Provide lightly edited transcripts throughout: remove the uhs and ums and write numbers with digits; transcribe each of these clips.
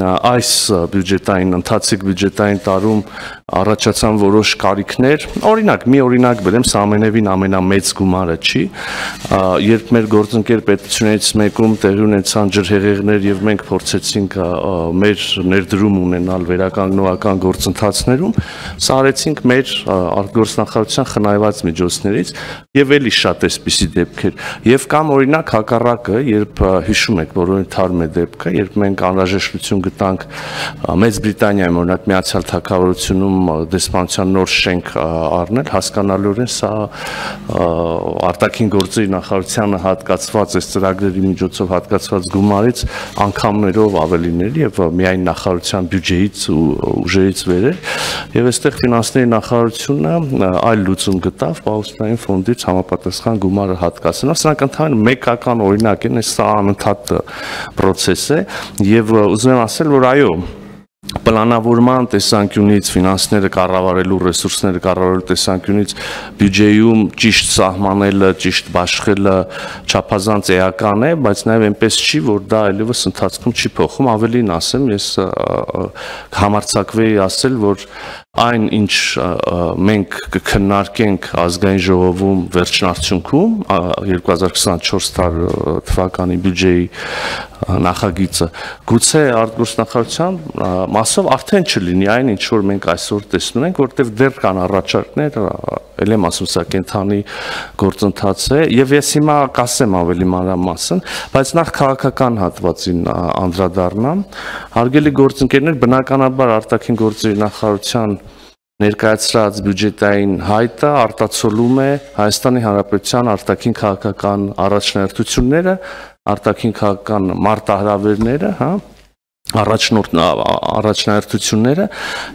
այս բյուջետային ընթացիկ բյուջետային տարում առաջացան որոշ կարիքներ, օրինակ, մի օրինակ բերեմ, սա ամենևին ամենամեծ գումարը չի, երբ մեր գործընկեր պետություններից մեկում տեղի ունեցան ջրհեղեղներ եւ մենք փորձեցինք մեր ներդրում ունենալ վերականգնողական գործընթացներում, սա արեցինք մեր արտգործնախարարության խնայված միջոցներից եւ էլի շատ էսպիսի դեպքեր եւ կամ օրինակ հակառակը, երբ հիշում եք, որոնց թարմ է դեպքը, երբ մենք անհրաժեշտություն գտանք Մեծ Բրիտանիայում օրինակ Միացյալ Թագավորությունում դեսպանության նոր շենք առնել, հասկանալիորեն սա արտաքին գործերի նախարարությանը հատկացված այս ծրագրերի միջոցով հատկացված գումարից անգամներով ավելիների եւ միայն նախարարության բյուջեից ու ուժերից վեր էր եւ այստեղ ֆինանսների նախարարությունը այլ լուծում գտավ Պաուստային ֆոնդից համապատասխան գումարը հատկացնելով, սրանք ընդհանրապես մեկական օրինակ են, սա անընդհատ process է եւ ուզում եմ ասել, որ այո, պլանավորման տեսանկյունից, ֆինանսները կառավարելու, ռեսուրսները կառավարելու տեսանկյունից բյուջեում ճիշտ սահմանելը, ճիշտ բաշխելը չափազանց էական է, բայց նաև այնպես չի, որ դա այլևս ընթացքում չի փոխում, ավելին ասեմ, ես համարձակվեի ասել, որ այն ինչ մենք կքննարկենք ազգային ժողովում վերջնարդյունքում 2024 թվականի բյուջեի նախագիծը գուցե արտգործնախարարության մասով արդեն չլինի այն ինչ որ մենք այսօր տեսնում ենք, որտեղ դեռ կան առաջարկներ, ել եմ ասում սա կենթանի գործընթաց է եւ ես հիմա կասեմ ավելի մանրամասն, բայց նախ քաղաքական հատվածին անդրադառնամ, հարգելի գործընկերներ, բնականաբար արտաքին գործերի նախարարության ներկայացրած բյուջետային հայտը արտացոլում է Հայաստանի Հանրապետության արտաքին քաղաքական առաջնահերթությունները, արտաքին քաղաքական մարտահրավերները, առաջնահերթությունները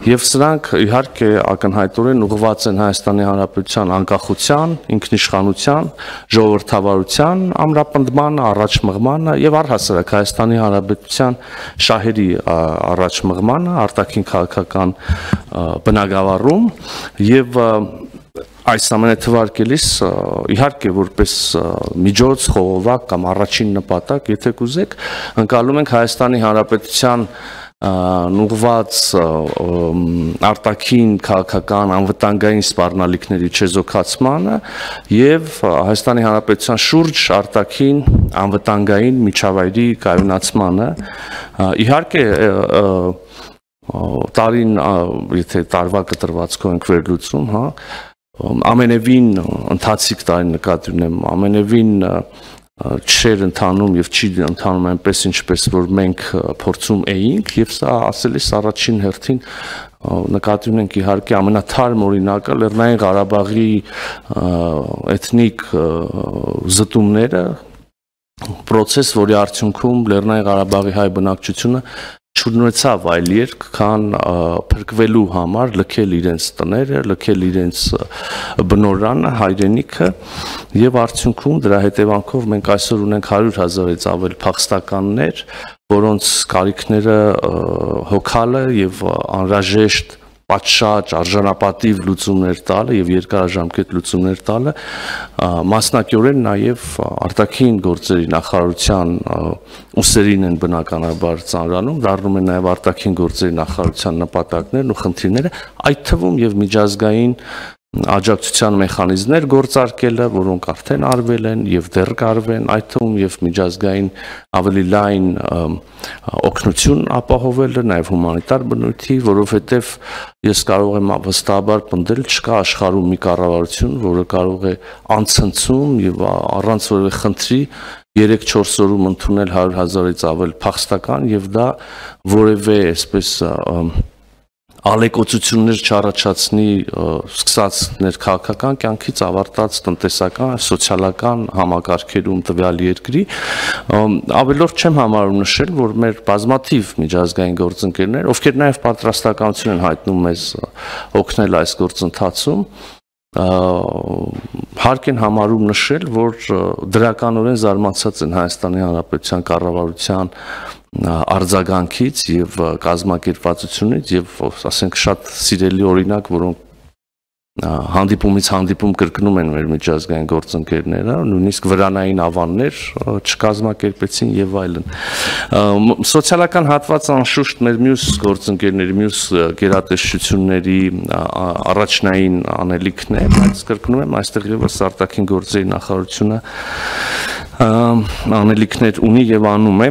եւ սրանք իհարկե ակնհայտորեն ուղղված են Հայաստանի Հանրապետության անկախության, ինքնիշխանության, ժողովրդավարության ամրապնդմանը, առաջմղմանը եւ առհասարակ Հայաստանի Հանրապետության շահերի առաջմղմանը, արտաքին քաղաքական բնագավառում եւ այս ամենը թվարկելիս իհարկե որպես միջոց խողովակ կամ առաջին նպատակ, եթե կուզեք, ընկալում ենք Հայաստանի Հանրապետության ուղղված արտաքին քաղաքական անվտանգային սպառնալիքների չեզոքացմանը եւ Հայաստանի Հանրապետության շուրջ արտաքին անվտանգային միջավայրի կայունացմանը, իհարկե տարին, եթե տարվա կտրվածքով ենք վերլուծում, ամենևին ընթացիկ տարին նկատի ունեմ, ամենևին չէր ընթանում եւ չի ընթանում այնպես ինչպես որ մենք փորձում էինք եւ սա ասելիս առաջին հերթին նկատի ունենք իհարկե ամենաթարմ օրինակը Լեռնային Ղարաբաղի էթնիկ զտումները, process, որի արդյունքում Լեռնային Ղարաբաղի հայ բնակչությունը չունեցավ այլ երկ, քան փրկվելու համար լքել իրենց տները, լքել իրենց բնորանը, հայրենիքը եւ արդյունքում դրա հետևանքով մենք այսօր ունենք 100,000-ից ավել փախստականներ, որոնց կարիքները հոգալը եւ անհրաժեշտ պատշաճ արժանապատիվ լուծումներ տալը եւ երկարաժամկետ լուծումներ տալը մասնակիորեն նաեւ արտաքին գործերի նախարարության ուսերին են բնականաբար ծանրանում, դառնում են նաեւ արտաքին գործերի նախարարության նպատակներն ու խնդիրները, այդ թվում եւ միջազգային աջակցության մեխանիզմներ գործարկելը, որոնք արդեն արվել են եւ դեռ կարվեն, այդ թվում եւ միջազգային ավելի լայն օգնություն ապահովելը, նաեւ հումանիտար բնույթի, որովհետեւ ես կարող եմ վստահաբար պնդել, չկա աշխարհում մի կառավարություն, որը կարող է անցնցում եւ առանց որևէ խնդրի 3-4 օրում ընդունել 100,000-ից ավել փախստական եւ դա որևէ այսպես ալեկոծություններ չառաջացնի սկսած ներքաղաքական կյանքից ավարտած տնտեսական, սոցիալական համակարգերում տվյալ երկրի, ավելորդ չեմ համարում նշել, որ մեր բազմաթիվ միջազգային գործընկերներ, ովքեր նաև պատրաստականություն են հայտնում մեզ օգնել այս գործընթացում, հարկ են համարում նշել, որ դրականորեն զարմացած են Հայաստանի Հանրապետության կառավարության արձագանքից եւ կազմակերպվածությունից եւ ասենք շատ սիրելի օրինակ, որոնք հանդիպումից հանդիպում կրկնում են մեր միջազգային գործընկերները, նույնիսկ վրանային ավաններ չկազմակերպեցին եւ այլն։ Սոցիալական հատվածը անշուշտ մեր մյուս գործընկերների, մյուս գերատեսչությունների առաջնային անելիքն է, բայց կրկնում եմ, այստեղ եւս արտաքին գործերի նախարարությունը անելիքներ ունի եւ անում է։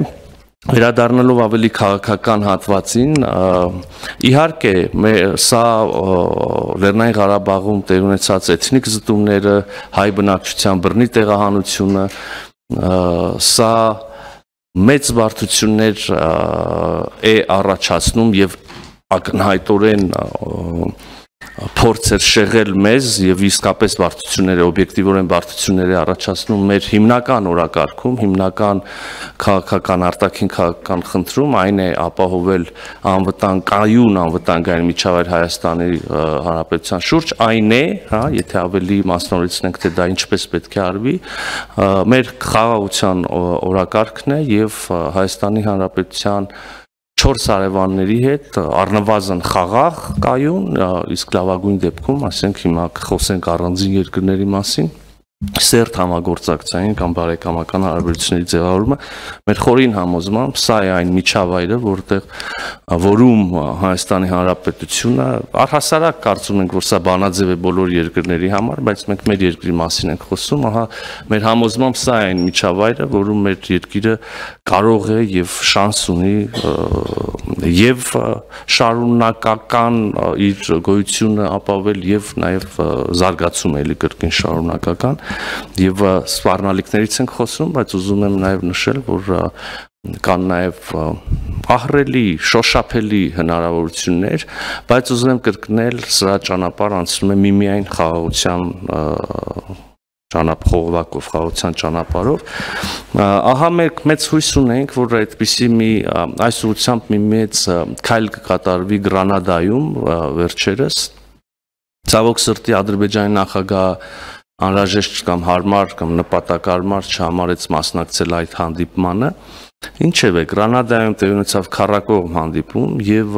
Վերադառնալով ավելի քաղաքական հատվածին, իհարկե սա Լեռնային Ղարաբաղում տեղի ունեցած էթնիկ զտումները, հայ բնակչության բռնի տեղահանությունը, սա մեծ բարդություններ է առաջացնում եւ ակնհայտորեն փորձ էր շեղել մեզ եւ իսկապես բարդությունները, օբյեկտիվորեն բարդությունները առաջացնում մեր հիմնական օրակարգում, հիմնական քաղաքական արտաքին քաղաքական խնդրում, այն է ապահովել կայուն անվտանգային միջավայր Հայաստանի Հանրապետության շուրջ, այն է, եթե ավելի մասնավորեցնենք, թե դա ինչպես պետք է արվի, մեր խաղաղության օրակարգն է եւ Հայաստանի Հանրապետության 4 հարևանների հետ առնվազն խաղաղ կայուն, իսկ լավագույն դեպքում, ասենք հիմա խոսենք առանձին երկրների մասին, սերտ համագործակցային կամ բարեկամական հարաբերությունների ձևավորումը մեր խորին համոզմամբ սա է այն միջավայրը, որում Հայաստանի Հանրապետությունը առհասարակ կարծում ենք, որ սա բանաձև է բոլոր երկրների համար, բայց մենք մեր երկրի մասին ենք խոսում, ահա մեր համոզմամբ սա է այն միջավայրը, որում մեր երկիրը կարող է եւ շանս ունի եւ շարունակական իր գոյությունը ապավել եւ նաեւ զարգացում էլի կրկին շարունակական եւ սպառնալիքներից ենք խոսում, բայց ուզում եմ նաեւ նշել, որ կան նաեւ ահռելի, շոշափելի հնարավորություններ, բայց ուզում եմ կրկնել, սրա ճանապարհը անցնում է միմիայն խաղաղության խողովակով, խաղաղության ճանապարհով, ահա մենք մեծ հույս ունենք, որ այդպիսի այս ուղղությամբ մի մեծ քայլ կկատարվի Գրանադայում վերջերս, ցավոք սրտի Ադրբեջանի նախագահ անհրաժեշտ կամ հարմար կամ նպատակարար չհամարեց մասնակցել այդ հանդիպմանը, ինչևէ Գրանադայում տեղի ունեցավ քառակողմ հանդիպում եւ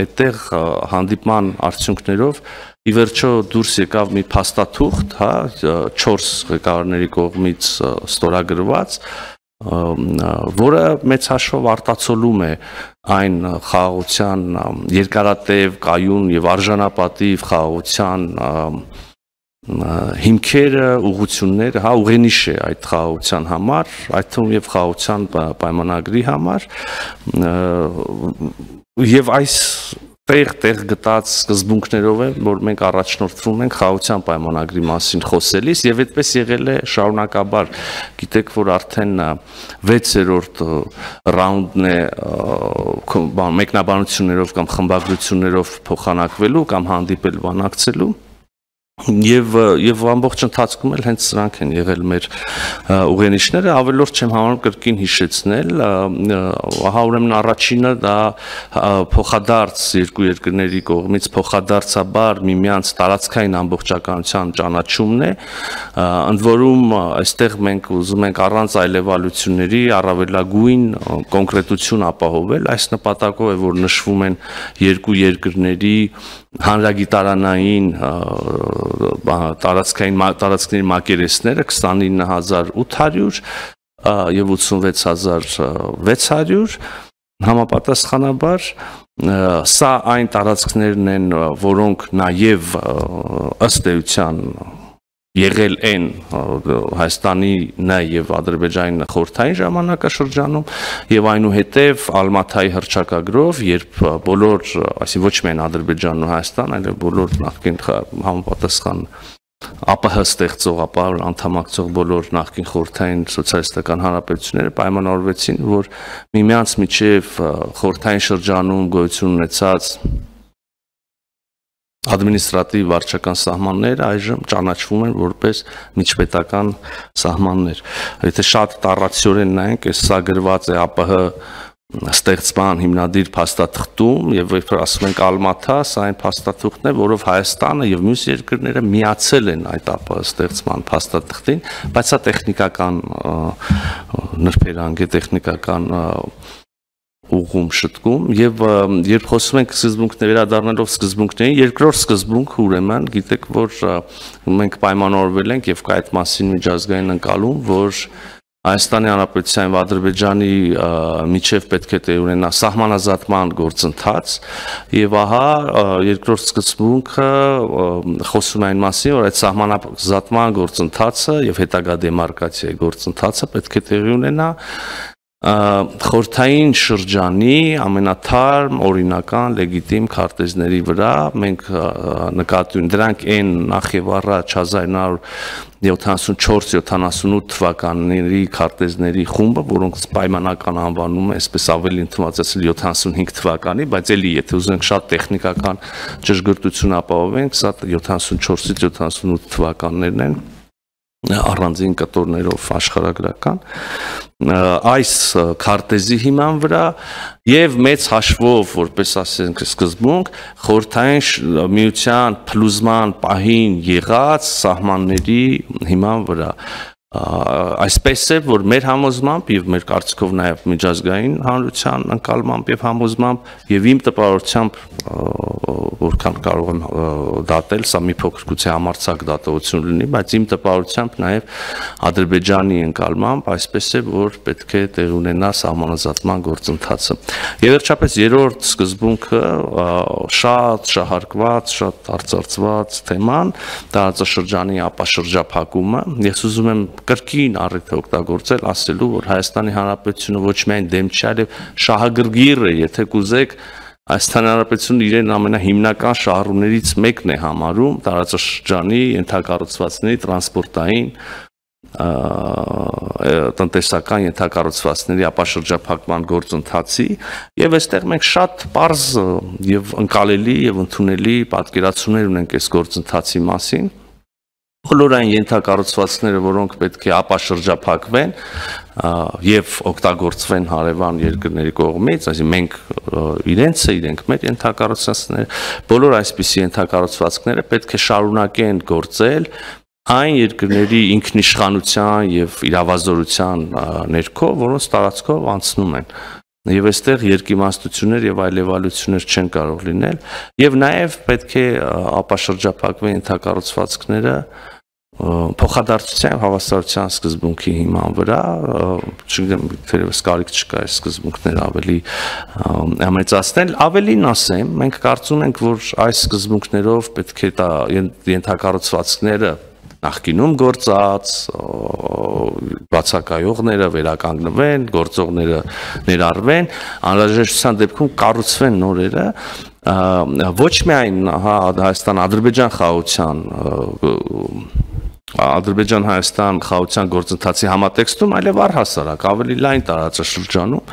այդտեղ հանդիպման արդյունքներով ի վերջո դուրս եկավ մի փաստաթուղթ, 4 ղեկավարների կողմից ստորագրված, որը մեծ հաշվով արտացոլում է այն խաղաղության երկարատև, կայուն եւ արժանապատիվ խաղաղության հիմքերը, ուղղությունները, ուղենիշ է այդ խաղաղության համար, այդ թվում եւ խաղաղության պայմանագրի համար եւ այս տեղ գտած սկզբունքներով է, որ մենք առաջնորդվում ենք խաղաղության պայմանագրի մասին խոսելիս եւ այդպես եղել է շարունակաբար, գիտեք, որ արդեն 6-րդ ռաունդն է մեկնաբանություններով կամ խմբագրություններով փոխանակվելու կամ հանդիպել բանակցելու Եվ ամբողջ ընթացքում էլ հենց սրանք են եղել մեր ուղենիշները, ավելորդ չեմ համարում կրկին հիշեցնել, ահա ուրեմն առաջինը դա փոխադարձ երկու երկրների կողմից փոխադարձաբար միմյանց տարածքային ամբողջականության ճանաչումն է, ընդ որում այստեղ մենք ուզում ենք առանց այլևալությունների առավելագույն կոնկրետություն ապահովել, այս նպատակով է, որ նշվում են երկու երկրների հանրագիտարանային տարածքների մակերեսները 29800 եւ 86600 համապատասխանաբար սա այն տարածքներն են, որոնք նաեւ ըստ էության եղել են Հայաստանի եւ Ադրբեջանի խորհրդային ժամանակաշրջանում եւ այնուհետեւ Ալմաթայի հռչակագրով, երբ բոլոր, այսինքն ոչ միայն Ադրբեջանն ու Հայաստան, այլև բոլոր նախկին համապատասխան ԱՊՀ ստեղծող, ապա անդամակցող բոլոր նախկին խորհրդային սոցիալիստական հանրապետությունները պայմանավորվեցին, որ միմյանց միջև խորհրդային շրջանում գոյություն ունեցած ադմինիստրատիվ վարչական սահմանները այժմ ճանաչվում են որպես միջպետական սահմաններ։ Եթե շատ տառացիորեն նայենք, սա գրված է ԱՊՀ ստեղծման հիմնադիր փաստաթղթում եւ երբ ասում ենք Ալմաթա, սա այն փաստաթուղթն է, որով Հայաստանը եւ մյուս երկրները միացել են այդ ԱՊՀ ստեղծման փաստաթղթին, բայց սա տեխնիկական նրբերանգ է, տեխնիկական ուղում շտկում եւ երբ խոսում ենք սկզբունքների վերադառնալով սկզբունքներին, երկրորդ սկզբունքը ուրեմն գիտեք, որ մենք պայմանավորվել ենք եւ կա այդ մասին միջազգային ընկալում, որ Հայաստանի Հանրապետության եւ Ադրբեջանի միջև պետք է տեղ ունենա սահմանազատման գործընթաց եւ ահա երկրորդ սկզբունքը խոսում է այն մասին, որ այդ սահմանազատման գործընթացը եւ հետագա դեմարկացիայի գործընթացը պետք է տեղի ունենա խորհրդային շրջանի ամենաթարմ օրինական լեգիտիմ քարտեզների վրա մենք նկատի ունենք դրանք այն նախ եւ առաջ 1974-78 թվականների քարտեզների խումբը, որոնք պայմանական անվանում է, այսպես ավելի ընդունվածացել 75 թվականի, բայց էլի եթե ուզենք շատ տեխնիկական ճշգրտություն ապահովենք, սա 74-ից 78 թվականներն են առանձին կտորներով աշխարհագրական այս քարտեզի հիման վրա եւ մեծ հաշվով որպես ասենք սկզբունք խորհրդային միության փլուզման պահին եղած սահմանների հիման վրա այսպես է որ մեր համոզմամբ եւ մեր կարծիքով նաեւ միջազգային հանրության ընկալմամբ եւ համոզմամբ եւ իմ տպավորությամբ որքան կարող եմ դատել սա մի փոքր գուցե համարձակ դատողություն լինի բայց իմ տպավորությամբ նաեւ Ադրբեջանի ընկալմամբ այսպես է որ պետք է տեղ ունենա սահմանազատման գործընթացը եւ վերջապես երրորդ սկզբունքը շատ շահարկված շատ արծարծված թեման տարածաշրջանի ապաշրջափակումը ես ուզում եմ կրկին առիթ օգտագործել ասելու որ Հայաստանի Հանրապետությունը ոչ միայն դեմ չէ այլև շահագրգիռ է եթե կուզեք Հայաստանի Հանրապետությունը իրեն ամենահիմնական շահառուներից մեկն է համարում տարածաշրջանի ենթակառուցվածքների տրանսպորտային տնտեսական ենթակառուցվածքների ապաշրջափակման գործընթացի եւ այստեղ մենք շատ པարզ եւ ընկալելի եւ ընդունելի պատկերացումներ ունենք այս գործընթացի մասին բոլոր այն ենթակառուցվածքները, որոնք պետք է ապաշրջափակվեն եւ օգտագործվեն հարևան երկրների կողմից, այսինքն մենք իրենք մեր ենթակառուցվածքները, բոլոր այսպիսի ենթակառուցվածքները պետք է շարունակեն գործել այն երկրների ինքնիշխանության եւ իրավազորության ներքո, որոնց տարածքով անցնում են Եվ այստեղ երկիմաստություններ եւ այլևալություններ չեն կարող լինել եւ նաեւ պետք է ապաշրջափակվեն ենթակառուցվածքները փոխադարձության հավասարության սկզբունքի հիման վրա, չգիտեմ, թերևս կարիք չկա այս սկզբունքները ավելի ամեծացնել, ավելին ասեմ, մենք կարծում ենք, որ այս սկզբունքներով պետք է ենթակառուցվածքները նախկինում գործած բացակայողները վերականգնվեն, գործողները ներառվեն, անհրաժեշտության դեպքում կառուցվեն նորերը, ոչ միայն Հայաստան-Ադրբեջան խաղաղության Ադրբեջան-Հայաստան խաղաղության գործընթացի համատեքստում, այլև առհասարակ ավելի լայն տարածաշրջանում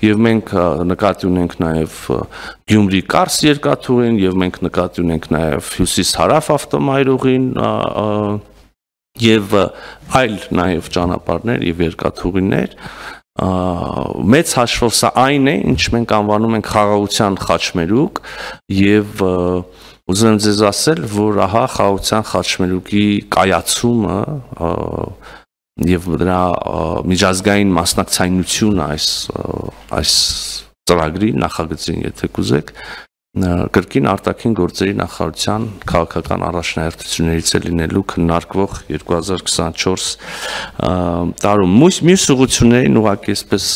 եւ մենք նկատի ունենք նաեւ Գյումրի-Կարս երկաթուղին եւ մենք նկատի ունենք նաեւ Հյուսիս-Հարավ ավտոմայրուղին եւ այլ նաեւ ճանապարհներ եւ երկաթուղիներ մեծ հաշվով սա այն է ինչ մենք անվանում ենք խաղաղության խաչմերուկ եւ ուզում եմ ձեզ ասել որ ահա խաղաղության խաչմերուկի կայացումը եւ դրա միջազգային մասնակցայնությունը այս ծրագրի նախագծին եթե կուզեք կրկին արտաքին գործերի նախարարության քաղաքական առաջնահերթություններից է լինելու քննարկվող 2024 տարում մյուս ուղղություններին ուղղակի այսպես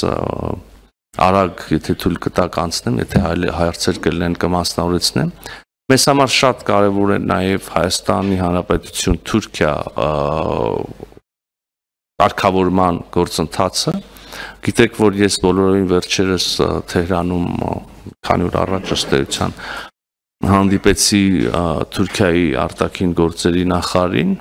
արագ եթե թույլ կտակ անցնեմ եթե հարցեր կլինեն կմասնավորեցնեմ մեզ համար շատ կարևոր է նաև Հայաստանի Հանրապետություն Թուրքիա կարգավորման գործընթացը գիտեք որ ես բոլորովին վերջերս Թեհրանում քանի օր առաջ ըստ էության հանդիպեցի Թուրքիայի արտաքին գործերի նախարարին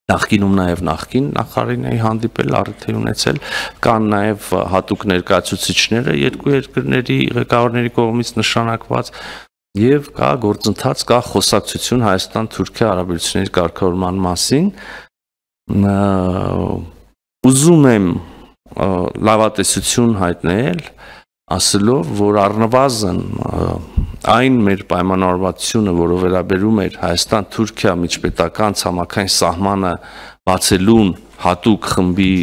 նախկինում նաև նախկին նախարարին էի հանդիպել առիթ ունեցել կան նաև հատուկ ներկայացուցիչները երկու երկրների ղեկավարների կողմից նշանակված եւ կա գործընթաց կա խոսակցություն Հայաստան-Թուրքիա հարաբերությունների կարգավորման մասին ուզում եմ լավատեսություն հայտնել ասելով որ առնվազն այն մեր պայմանավորվածությունը որը վերաբերում էր Հայաստան-Թուրքիա միջպետական ցամաքային սահմանը բացելուն հատուկ խմբի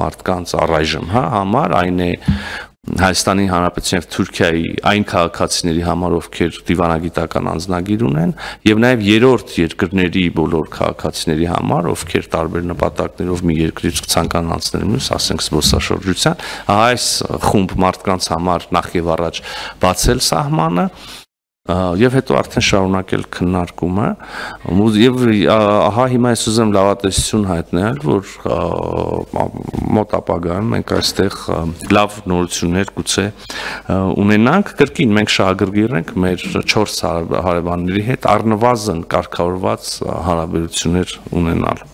մարդկանց առայժմ համար այն է Հայաստանի Հանրապետության եւ Թուրքիայի այն քաղաքացիների համար, ովքեր դիվանագիտական անձնագիր ունեն, եւ նաեւ երրորդ երկրների բոլոր քաղաքացիների համար, ովքեր տարբեր նպատակներով մի երկրից ցանկանան անցնել մյուս, ասենք զբոսաշրջության, այս խումբ մարդկանց համար նախ եւ առաջ բացել սահմանը եւ հետո արդեն շարունակել քննարկումը եւ ահա հիմա ես ուզում լավատեսություն հայտնել, որ մոտ ապագայում մենք այստեղ լավ նորություններ գուցե ունենանք, կրկին մենք շահագրգիռ ենք մեր 4 հարևանների հետ առնվազն կարգավորված հարաբերություններ ունենալ։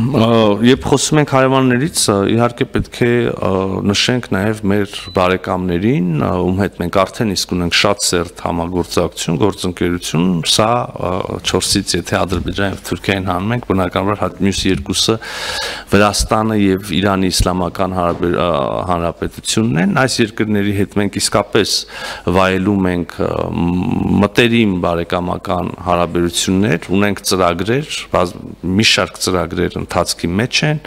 Երբ խոսում ենք հարևաններից, իհարկե պետք է նշենք նաև մեր բարեկամներին, ում հետ մենք արդեն իսկ ունենք շատ սերտ համագործակցություն, գործընկերություն, սա 4-ից եթե Ադրբեջան եւ Թուրքիային հանում ենք, բնականաբար մյուս երկուսը Վրաստանը եւ Իրանի Իսլամական Հանրապետությունն են, այս երկրների հետ մենք իսկապես վայելում ենք մտերիմ բարեկամական հարաբերություններ, ունենք ծրագրեր, մի շարք ծրագրեր ընթացքի մեջ են,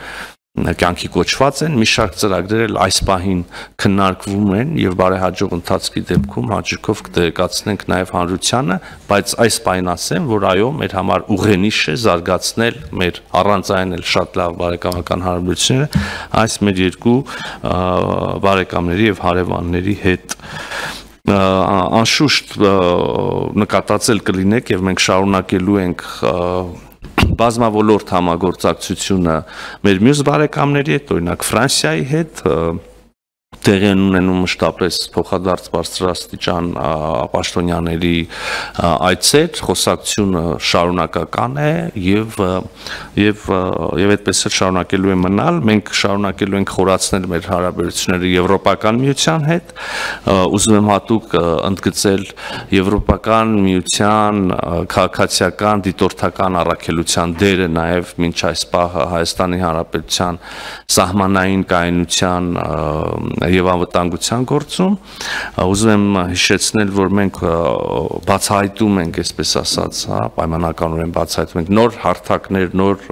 կյանքի կոչված են, մի շարք ծրագրեր այս պահին քննարկվում են եւ բարեհաջող ընթացքի դեպքում հաջողով կտեղեկացնենք նաեւ հանրությանը, բայց այս պահին ասեմ, որ այո, մեր համար ուղենիշ է զարգացնել մեր առանց այն էլ շատ լավ բարեկամական հարաբերությունները այս մեր երկու բարեկամների եւ հարևանների հետ անշուշտ նկատածել կլինեք եւ մենք շարունակելու ենք բազմավոլորտ համագործակցությունը մեր մյուս բարեկամների հետ, օրինակ Ֆրանսիայի հետ, տեղի ունենում մշտապես փոխադարձ բարձրաստիճան պաշտոնյաների այցեր, խոսակցությունը շարունակական է եւ այդպես էլ շարունակելու է մնալ, մենք շարունակելու ենք խորացնել մեր հարաբերությունները Եվրոպական միության հետ, ուզում եմ հատուկ ընդգծել Եվրոպական միության քաղաքացիական դիտորդական առաքելության դերը նաեւ մինչ այս պահը Հայաստանի Հանրապետության սահմանային կայունության եւ անվտանգության գործում, ուզում եմ հիշեցնել, որ մենք բացահայտում ենք, այսպես ասած, պայմանականորեն բացահայտում ենք նոր հարթակներ, նոր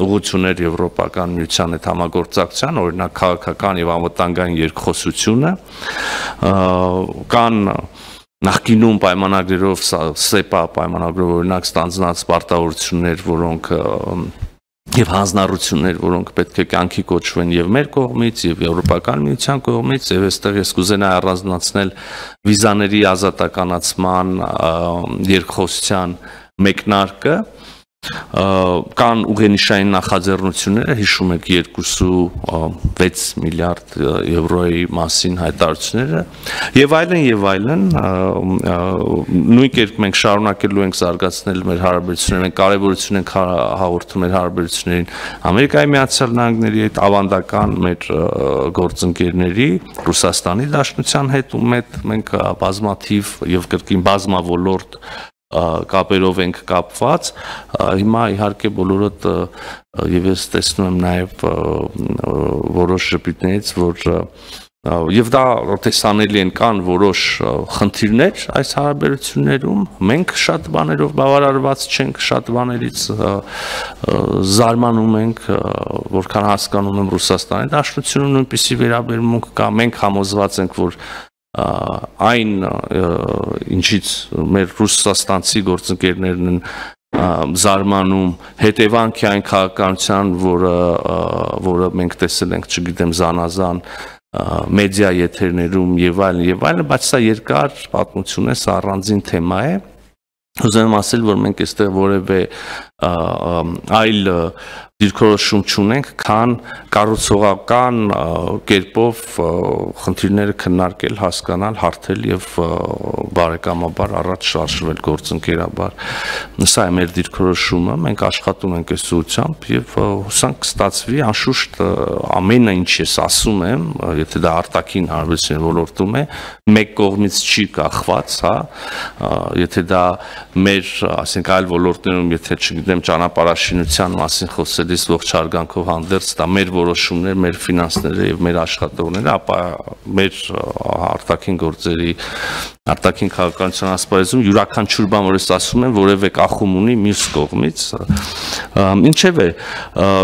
ուղղություններ Եվրոպական միության հետ համագործակցության, օրինակ քաղաքական եւ անվտանգային երկխոսությունը, կան նախկինում պայմանագրերով SEPA պայմանագրով օրինակ ստանձնած պարտավորություններ, որոնք եւ հանձնառություններ, որոնք պետք է կյանքի կոչվեն եւ մեր կողմից եւ Եվրոպական միության կողմից, եւ այստեղ ես կուզենայի առանձնացնել վիզաների ազատականացման երկխոսության մեկնարկը, կան ուղենիշային նախաձեռնությունները, հիշում եք 2.6 միլիարդ եվրոյի մասին հայտարարությունները եւ այլն, նույն կերպ մենք շարունակելու ենք զարգացնել մեր հարաբերությունները, մենք կարեւորություն ենք հաղորդում մեր հարաբերություններին Ամերիկայի Միացյալ Նահանգների հետ, ավանդական մեր գործընկերների, Ռուսաստանի Դաշնության հետ, ում հետ մենք բազմաթիվ եւ կրկին բազմավոլորտ կապերով ենք կապված, հիմա իհարկե բոլորդ եւ ես տեսնում եմ նաեւ որոշ ժպիտներից, որ եւ դա տեսանելի են, կան որոշ խնդիրներ այս հարաբերություններում, մենք շատ բաներով բավարարված չենք, շատ բաներից զարմանում ենք, որքան հասկանում եմ Ռուսաստանի Դաշնությունում նույնպիսի վերաբերմունք կա, մենք համոզված ենք, որ այն ինչից մեր ռուսաստանցի գործընկերներն են զարմանում, հետևանք է այն քաղաքականության, որը մենք տեսել ենք, չգիտեմ, զանազան մեդիա եթերներում եւ այլն, բայց սա երկար պատմություն է, սա առանձին թեմա է։ Ուզում եմ ասել, որ մենք այստեղ որևէ այլ դիրքորոշում չունենք, քան կառուցողական կերպով խնդիրները քննարկել, հասկանալ, հարթել եւ բարեկամաբար առաջ շարժվել գործընկերաբար։ Սա է մեր դիրքորոշումը, մենք աշխատում ենք այս ուղղությամբ եւ հուսանք կստացվի, անշուշտ ամենը ինչ ես ասում եմ, եթե դա արտաքին հարաբերությունների ոլորտում է, մեկ կողմից չի կախված, հա, եթե դա մեր, ասենք, այլ ոլորտներում, եթե չգիտեմ չգիտեմ ճանապարհաշինության մասին խոսելիս ողջ հարգանքով հանդերձ դա մեր որոշումներ, մեր ֆինանսները եւ մեր աշխատողները, ապա մեր արտաքին գործերի արտաքին քաղաքականության ասպարեզում յուրաքանչյուր բան, որ ես ասում եմ, որևէ կախում ունի մյուս կողմից։ Ինչևէ,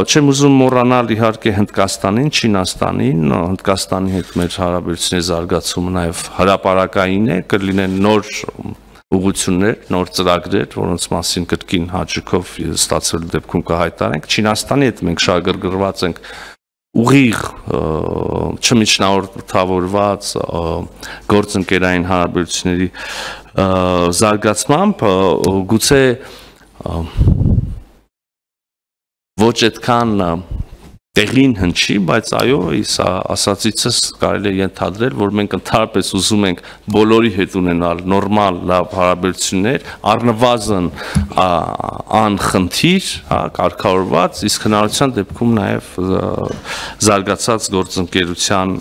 չեմ ուզում մոռանալ իհարկե Հնդկաստանին, Չինաստանին, Հնդկաստանի հետ մեր հարաբերությունների զարգացումը նաև հրապարակային է, կլինեն նոր ուղղություններ, նոր ծրագրեր, որոնց մասին կրկին հաճույքով ստացվելու դեպքում կհայտարենք։ Չինաստանի հետ մենք շահագրգռված ենք ուղիղ չմիջնորդավորված գործընկերային հարաբերությունների զարգացմամբ, գուցե ոչ այդքան տեղին հնչի, բայց այո, իս ասացիցս կարելի է ենթադրել, որ մենք ընդհանրապես ուզում ենք բոլորի հետ ունենալ նորմալ լավ հարաբերություններ, առնվազն անխնդիր, կարգավորված, իսկ հնարավորության դեպքում նաև զարգացած գործընկերության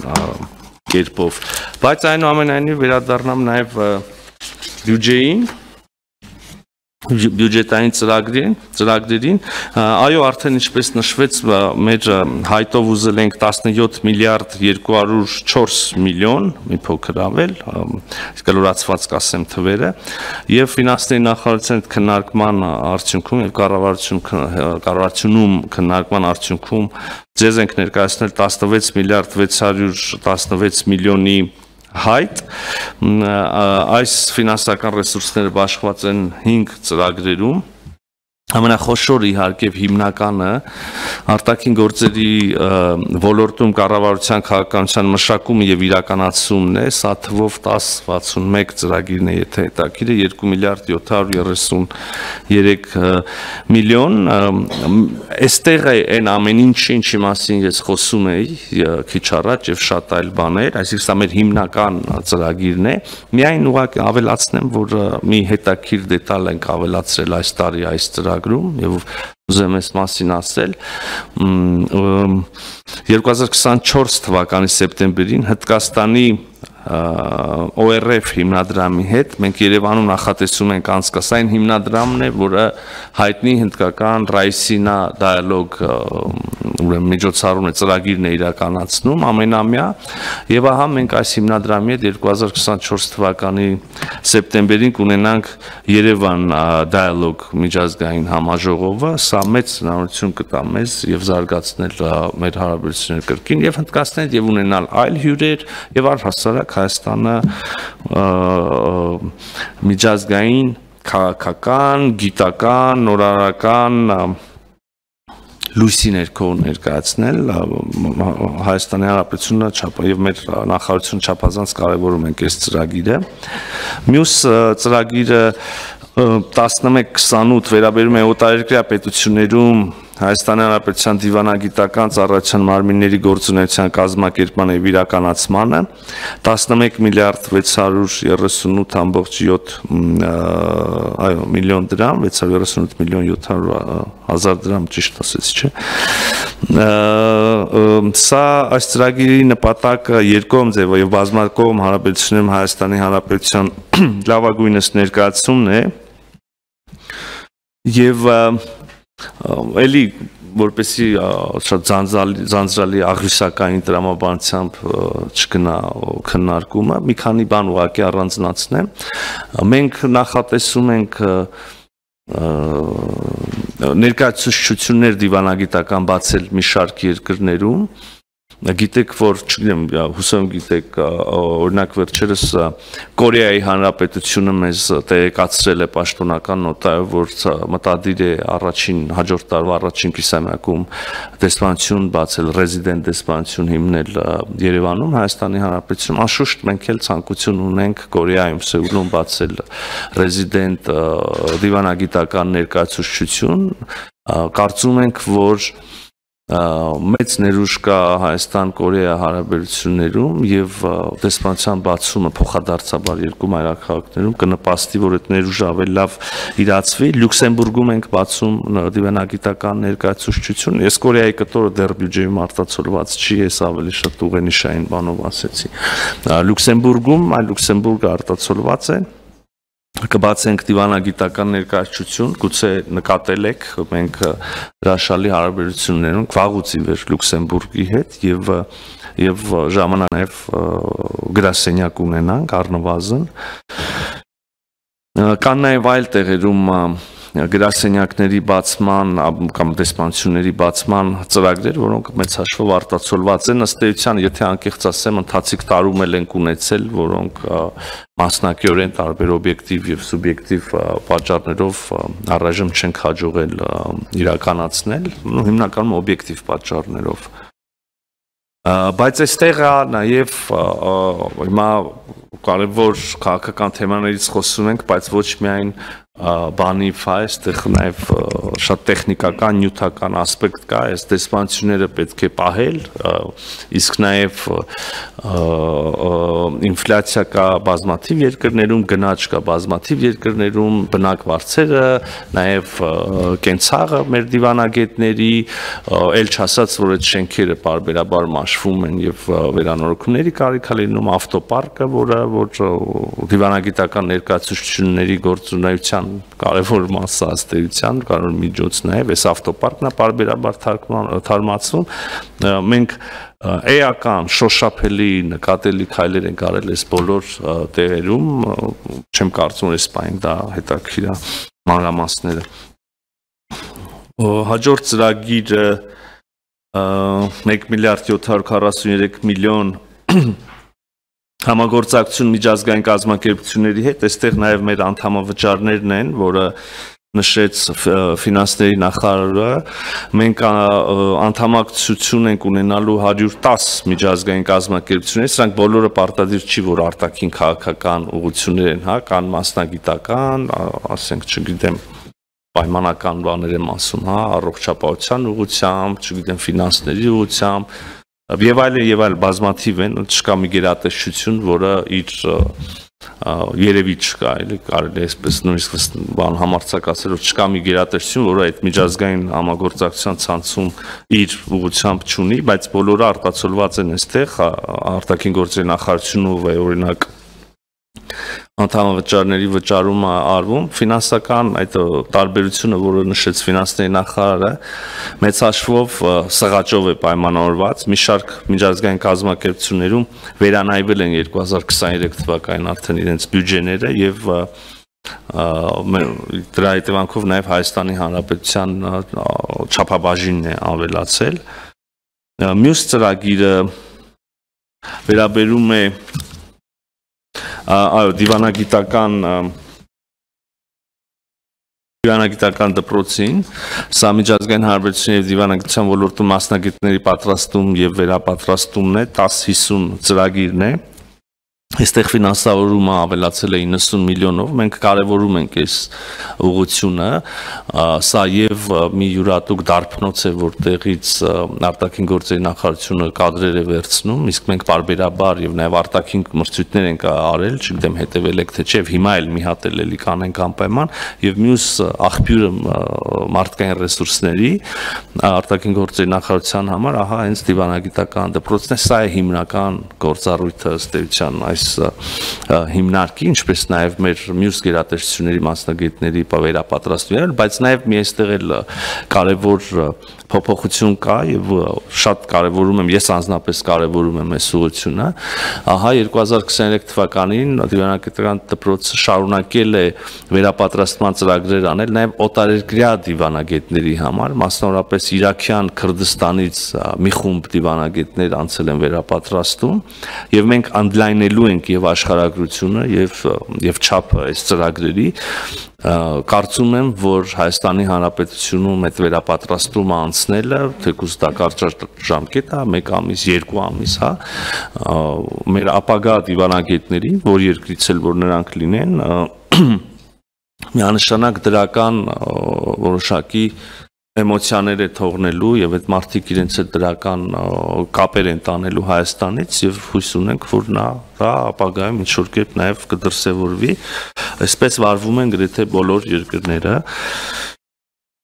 կերպով։ Բայց այնուամենայնիվ վերադառնամ նաև բյուջեին, բյուջետային ծրագրերին, այո, արդեն ինչպես նշվեց, մեր հայտով ուզել ենք 17 միլիարդ 204 միլիոն, մի փոքր ավել, կլորացված կասեմ թվերը, եւ ֆինանսների նախարարության քննարկման արդյունքում եւ կառավարությունում քննարկման արդյունքում ձեզ ենք ներկայացնել 16 միլիարդ 616 միլիոնի հայտ, այս ֆինանսական ռեսուրսները բաշխված են 5 ծրագրերում, ամենախոշորը իհարկե հիմնականը արտաքին գործերի ոլորտում կառավարության քաղաքականության մշակումը եւ իրականացումն է, սա թվով 1061 ծրագիրն է, եթե հետաքրքիր է, 2 միլիարդ 733 միլիոն, այստեղ է այն ամեն ինչի մասին ես խոսում էի քիչ առաջ եւ շատ այլ բաներ, այսինքն սա մեր հիմնական ծրագիրն է, միայն ուղղակի ավելացնեմ, որ մի հետաքրքիր դետալ ենք ավելացրել այս տարի այս ծրագրում եւ ուզում եմ այս մասին ասել 2024 թվականի սեպտեմբերին Հնդկաստանի ORF հիմնադրամի հետ մենք Երևանում նախատեսում ենք անցկացնել այն հիմնադրամն է, որը հայտնի հնդկական Ռայսինա դիալոգ ուրեմն միջոցառումն է, ծրագիրն է իրականացնում ամենամյա եւ ահա մենք այս հիմնադրամի հետ 2024 թվականի սեպտեմբերին կունենանք Երևան դիալոգ միջազգային համաժողովը, սա մեծ հնարավորություն կտա մեզ եւ զարգացնել մեր հարաբերությունները կրկին եւ Հնդկաստանի եւ ունենալ այլ հյուրեր եւ առհասարակ Հայաստանը միջազգային, քաղաքական, գիտական, նորարարական լույսի ներքո ներկայացնել Հայաստանի Հանրապետությունը եւ մեր նախարարությունը չափազանց կարեւորում ենք այս ծրագիրը։ Մյուս ծրագիրը 11-28 վերաբերում է օտարերկրյա պետություններում Հայաստանի Հանրապետության դիվանագիտական ծառայության մարմինների գործունեության կազմակերպման եւ իրականացմանը 11 միլիարդ 638.7 միլիոն դրամ, 638 միլիոն 700 հազար դրամ ճիշտ ասեցի, չէ։ Սա այս ծրագիրի նպատակը երկկողմ ձևով եւ բազմակողմ հարաբերություններում Հայաստանի Հանրապետության լավագույնս ներկայացումն է եւ էլի որպեսի շատ ձանձրալի աղյուսակային տրամաբանությամբ չգնա քննարկումը, մի քանի բան ուղղակի առանձնացնեմ։ Մենք նախատեսում ենք ներկայացուցչություններ դիվանագիտական բացել մի շարք երկրներում, գիտեք, որ չգիտեմ, հուսով գիտեք, օրինակ վերջերս Կորեայի Հանրապետությունը մեզ տեղեկացրել է պաշտոնական նոտայով, որ մտադիր է հաջորդ տարվա առաջին կիսամյակում դեսպանություն բացել, ռեզիդենտ դեսպանություն հիմնել Երևանում, Հայաստանի Հանրապետությունում, անշուշտ մենք էլ ցանկություն ունենք Կորեայում, Սեուլում բացել ռեզիդենտ դիվանագիտական ներկայացուցչություն, կարծում ենք, որ մեծ ներուժ կա Հայաստան-Կորեա հարաբերություններում եւ դեսպանության բացումը փոխադարձաբար երկու մայրաքաղաքներում կնպաստի, որ այդ ներուժը ավելի լավ իրացվի։ Լյուքսեմբուրգում ենք բացում դիվանագիտական ներկայացուցչություն։ Ես Կորեայի կտորը դեռ բյուջեում արտացոլված չի, ես ավելի շատ ուղենիշային բանով ասեցի։ Լյուքսեմբուրգում, այլ Լյուքսեմբուրգը արտացոլված է։ կբացենք դիվանագիտական ներկայացություն, գուցե նկատել եք, մենք հրաշալի հարաբերություններ ունենք վաղուց ի վեր Լյուքսեմբուրգի հետ եւ ժամանակ նաեւ գրասենյակ ունենանք առնվազն կան նաեւ այլ տեղերում գրասենյակների բացման կամ դեսպանությունների բացման ծրագրեր, որոնք մեծ հաշվով արտացոլված են ըստ էության, եթե անկեղծ ասեմ, ընթացիկ տարում էլ ենք ունեցել, որոնք մասնակիորեն տարբեր օբյեկտիվ եւ սուբյեկտիվ պատճառներով առայժմ չենք հաջողել իրականացնել, հիմնականում օբյեկտիվ պատճառներով։ Բայց այստեղ է նաև հիմա կարևոր քաղաքական թեմաներից խոսում ենք, բայց ոչ միայն բանի ֆա, այստեղ նաև շատ տեխնիկական, նյութական ասպեկտ կա, այս դեսպանությունները պետք է պահել, իսկ նաև ինֆլյացիա կա բազմաթիվ երկրներում, գնաճ կա բազմաթիվ երկրներում, բնակվարձերը, նաև կենցաղը մեր դիվանագետների, էլ չասած, որ այդ շենքերը պարբերաբար մաշվում են եւ վերանորոգումների կարիք է լինում, ավտոպարկը, որ դիվանագիտական ներկայացուցիչների գործունեության կարևոր մասը ըստեյության, կարևոր միջոցն է, այս ավտոպարկն է պարբերաբար թարմացվում, մենք էական, շոշափելի, նկատելի քայլեր ենք արել այս բոլոր տեղերում, չեմ կարծում, որ այս պահին դա հետաքրքիր է մանրամասները։ Հաջորդ ծրագիրը 1 միլիարդ 743 միլիոն համագործակցություն միջազգային կազմակերպությունների հետ, այստեղ նաև մեր անդամավճարներն են, որը նշեց ֆինանսների նախարարը, մենք անդամակցություն ենք ունենալու 110 միջազգային կազմակերպություններ, սրանք բոլորը պարտադիր չի, որ արտաքին քաղաքական ուղղություններ են, հա, կան մասնագիտական, ասենք, չգիտեմ, պայմանական բաներ եմ ասում, հա, առողջապահության ուղղությամբ, չգիտեմ, ֆինանսների ուղղությամբ, եւ այլ բազմաթիվ են, չկա մի գերատեսչություն, որը իր երևի չկա, էլի կարելի է այսպես նույնիսկ բան համարձակ ասել, որ չկա մի գերատեսչություն, որը այդ միջազգային համագործակցության ցանցում իր ուղղությամբ չունի, բայց բոլորը արտացոլված են այստեղ, արտաքին գործերի նախարարությունով է օրինակ անդամավճարների վճարումը արվում, ֆինանսական այդ տարբերությունը, որը նշեց ֆինանսների նախարարը, մեծ հաշվով սղաճով է պայմանավորված, մի շարք միջազգային կազմակերպություններում վերանայվել են 2023 թվականին արդեն իրենց բյուջեները եւ դրա հետևանքով նաև Հայաստանի Հանրապետության չափաբաժինն է ավելացել։ Մյուս ծրագիրը վերաբերում է դիվանագիտական դպրոցին, սա միջազգային հարաբերությունների եւ դիվանագիտության ոլորտում մասնագետների պատրաստում եւ վերապատրաստումն է, 10-50 ծրագիրն է։ Այստեղ ֆինանսավորումը ավելացել է 90 միլիոնով, մենք կարևորում ենք այս ուղղությունը, սա եւ մի յուրատուկ դարբնոց է, որտեղից արտաքին գործերի նախարարությունը կադրեր է վերցնում, իսկ մենք պարբերաբար եւ նաեւ արտաքին մրցույթներ ենք արել, չգիտեմ հետեւել եք թե չէ, հիմա էլ մի հատ էլի կանենք անպայման, եւ մյուս աղբյուրը մարդկային ռեսուրսների արտաքին գործերի նախարարության համար, ահա հենց դիվանագիտական դպրոցն է, սա է հիմնական գործառույթը ըստ էության հիմնարկի, ինչպես նաև մեր մյուս գերատեսչությունների մասնագետների վերապատրաստումներ, բայց նաև մի այստեղ էլ կարևոր փոփոխություն կա եւ շատ կարևորում եմ, ես անձնապես կարևորում եմ այս ուղղությունը, ահա 2023 թվականին դիվանագիտական դպրոցը շարունակել է վերապատրաստման ծրագրեր անել նաև օտարերկրյա դիվանագետների համար, մասնավորապես Իրաքյան Քրդստանից մի խումբ դիվանագետներ անցել են վերապատրաստում եւ մենք ընդլայնելու ենք եւ աշխարհագրությունը եւ չափը այս ծրագրերի կարծում եմ, որ Հայաստանի Հանրապետությունում այդ վերապատրաստումը անցնելը, թեկուզ դա կարճ ժամկետ է, 1 ամիս, 2 ամիս, հա, մեր ապագա դիվանագետների, որ երկրից էլ որ նրանք լինեն, միանշանակ դրական որոշակի էմոցիաներ է թողնելու եւ այդ մարդիկ իրենց այդ դրական կապեր են տանելու Հայաստանից եւ հույս ունենք, որ նա ապագայում ինչ-որ կերպ նաեւ կդրսեւորվի, այսպես վարվում են գրեթե բոլոր երկրները։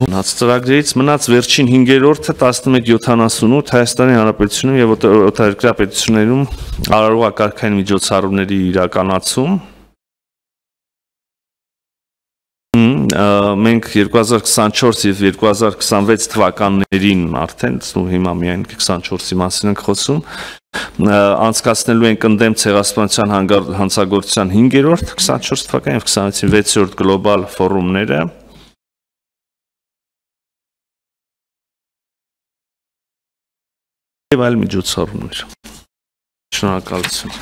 Մնաց ծրագրերից մնաց վերջին 5-րդը 1178 Հայաստանի Հանրապետությունում եւ օտարերկրյա պետություններում արարողակարգային միջոցառումների իրականացում Մենք 2024 եւ 2026 թվականներին արդեն հիմա միայն 24-ի մասին ենք խոսում անցկացնելու ենք ընդդեմ ցեղասպանության հանցագործության 5-րդ 24 թվական եւ 26-ին 6-րդ գլոբալ ֆորումները եւ այլ միջոցառումներ։ Շնորհակալություն։